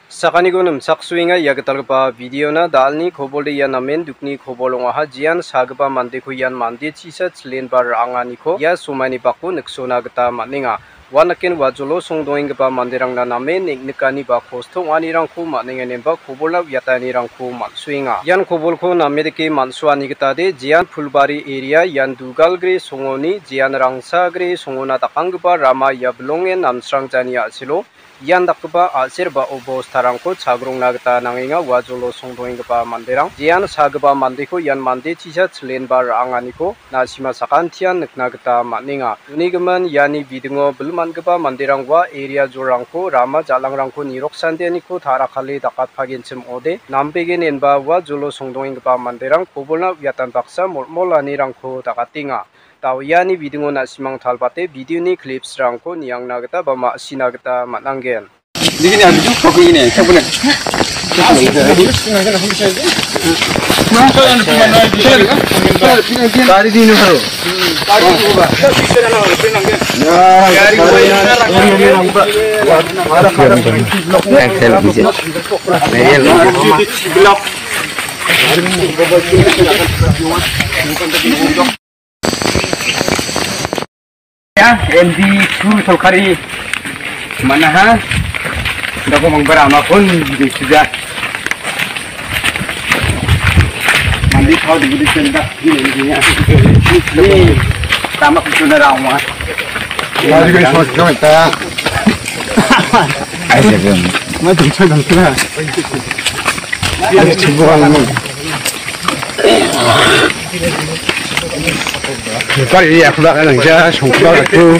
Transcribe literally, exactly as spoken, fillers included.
Sakaniko nimchaksoenga ia gitalgipa videona. Dalni kobolde ia namen dukni kobol ong·aha. Jean sagipa mandeko ian mande chisa chilenba ra·anganiko ia somaini bako niksona gita man·enga. Uanaken uajolo songdongenggipa manderangna namen neng·nikani ba kosto ong·anirangko man·enganemba kobolna uiatanirangko man·soenga. Ian kobolko namedake man·soani gitade Jean Pulbari eria ian Dugalgre songoni Jean Rangsagre songona dakanggipa rama ia bilongen Namsrangjani a·selo ian dakgipa a·ser ba obostarangko chagrongna gita nangenga. Uajolo songdongenggipa manderang Jean sagipa mandeko ian mande chisa chilenba ra·anganiko na·sima sakantian nikna gita man·enga. Unigimin iani bidingo bil man·gipa manderang ua eria jorangko rama jal·angrangko niroksandeaniko ta·rakale dakatpagenchim ong·ode, nambegenenba uajolo songdongenggipa manderang kobolna uiatan baksa molmolanirangko dakatenga. Dao iani bidingo na·simang talbate videoni clipsrangko niangna gita ba ma·sina gita man·angen. Ini aku juga ini, saya punya. Gari di mana? Gari di mana? Ya, gari di mana? Excel bisa. Ya, M D two sorkari manaha. Dako mangbara amakon disuja. Mandi kau di budi sendak di ni ni. Ni tamak suna rawa. Lagi ke semua kita. Ayo, Bang. Maju, maju, maju. Ayo, coba kamu. Bukan ini aku lah kan kerja, sumpah aku.